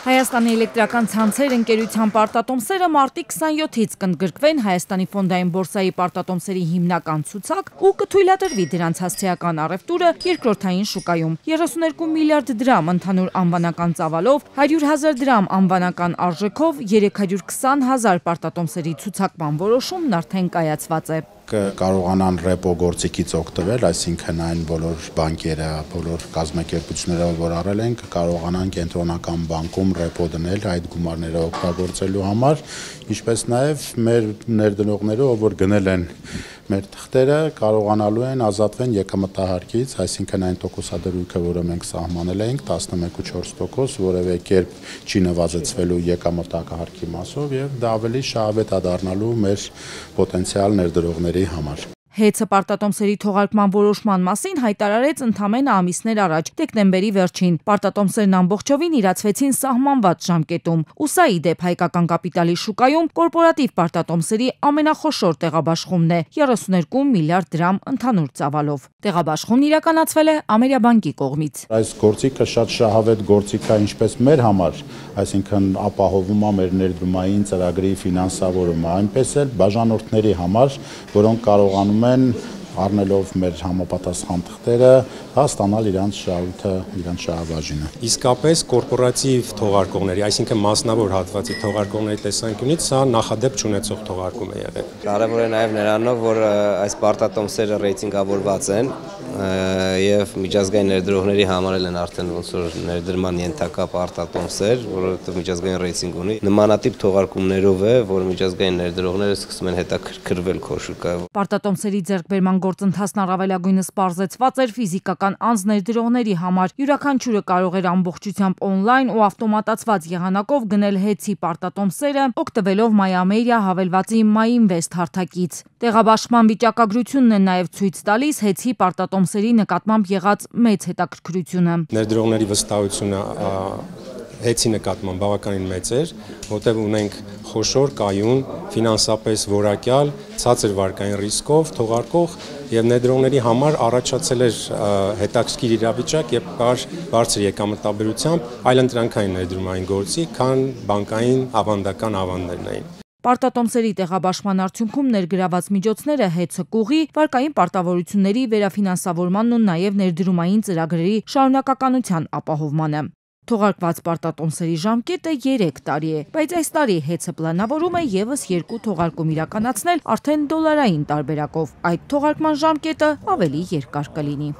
Հայաստանի էլեկտրական ցանցեր ընկերության պարտատոմսերը մարտի 27-ից կընդգրկվեն Հայաստանի ֆոնդային բորսայի պարտատոմսերի հիմնական ցուցակ ու կթույլատրվի դրանց հասցեական առևտուրը երկրորդային շուկայում։ 32 միլիարդ դրամ ընդհանուր անվանական ծավալով, 100,000 դրամ անվանական արժեքով 320,000 պարտատոմսերի ցուցակման որոշումն արդեն կայացված է։ Կարողանան ռեպո գործիքից օգտվել, այսինքն այն բոլոր բանկերը, բոլոր կազմակերպությունները, որ առել ենք, կարողանան կենտրոնական բանկում ռեպո դնել այդ գումարները օգտագործելու համար, ինչպես նաև մեր ներդնողները, որ գնել են մեր թղթերը, կարողանալու են ազատվեն եկամտահարկից, այսինքն այն տոկոսադրույքը, որը մենք սահմանել ենք 11.4%, որևէ կերպ չի նվազեցվելու եկամտահարկի մասով եւ դա ավելի շահավետ է դառնալու մեր պոտենցիալ ներդրողների համար։ Հեծը պարտատոմսերի թողարկման որոշման մասին հայտարարեց ընդամենը ամիսներ առաջ, դեկտեմբերի վերջին։ Պարտատոմսերն ամբողջովին իրացվեցին սահմանված ժամկետում։ Ու սա ի դեպ հայկական կապիտալի շուկայում կորպորատիվ պարտատոմսերի ամենախոշոր տեղաբաշխումն է՝ 32 միլիարդ դրամ ընդհանուր ծավալով։ Տեղաբաշխումն իրականացվել է Ամերիաբանկի կողմից։ Այս գործիքը շատ շահավետ գործիք է ինչպես մեր համար, այսինքն ապահովում է մեր ներդրումային ծրագրի ֆինանսավորումը, այնպես էլ բաժանորդների համար, որոնք կարողանում են առնելով մեր համապատասխան թղթերը ստանալ իրանց շահույթը, իրանց շահաբաժինը։ Իսկապես կորպորատիվ թողարկողների, այսինքն մասնավոր հատվածի թողարկողների տեսանկյունից սա նախադեպ չունեցող թողարկում է եղել։ Կարևոր է նաև նրանով, որ այս պարտատոմսերը ռեյտինգավորված են եւ միջազգային ներդրողների համար են արդեն ոնց որ ներդրման ենթակա պարտատոմսեր, որովհետեւ միջազգային ռեյտինգ ունի։ Նմանատիպ թողարկումներով է, որ միջազգային ներդրողները սկսում են հետաքրքրվել քո շուկայով։ Պարտատոմսերի ձեռքբերման գործընթացն առավելագույնս պարզեցված էր ֆիզիկական անձ ներդրողների համար։ Յուրաքանչյուրը կարող էր ամբողջությամբ օնլայն ու ավտոմատացված եղանակով գնել հեծի պարտատոմսերը, օգտվելով MyAmeria հավելվածի MyInvest հարթակից։ Տեղաբաշխման վիճակագրությունն է նաև ցույց տալիս հեծի պարտատոմսերի նկատմամբ եղած մեծ հետաքրքրությունը։ Ներդրողների վստահությունը հեծի նկատմամբ բավականին մեծ էր, որտեղ ունենք խոշոր, կայուն, ֆինանսապես որակյալ, ցածր վարկային ռիսկով թողարկող եւ ներդրողների համար առաջացել էր հետաքրքիր իրավիճակ եւ կար բարձր եկամտաբերությամբ այլընտրանքային ներդրումային գործի, քան բանկային ավանդական ավանդներն էին։ Պարտատոմսերի տեղաբաշխման արդյունքում ներգրաված միջոցները հեծը կուղի, վարկային պարտավորությունների վերաֆինանսավորմանն ու նաև ներդրումային ծրագրերի շարունակականության ապահովմանը։ Թողարկված պարտատոմսերի ժամկետը 3 տարի է, բայց այս տարի հեծը պլանավորում է եւս 2 թողարկում իրականացնել արդեն դոլարային տարբերակով։ Այդ թողարկման ժամկետը ավելի երկար կլինի։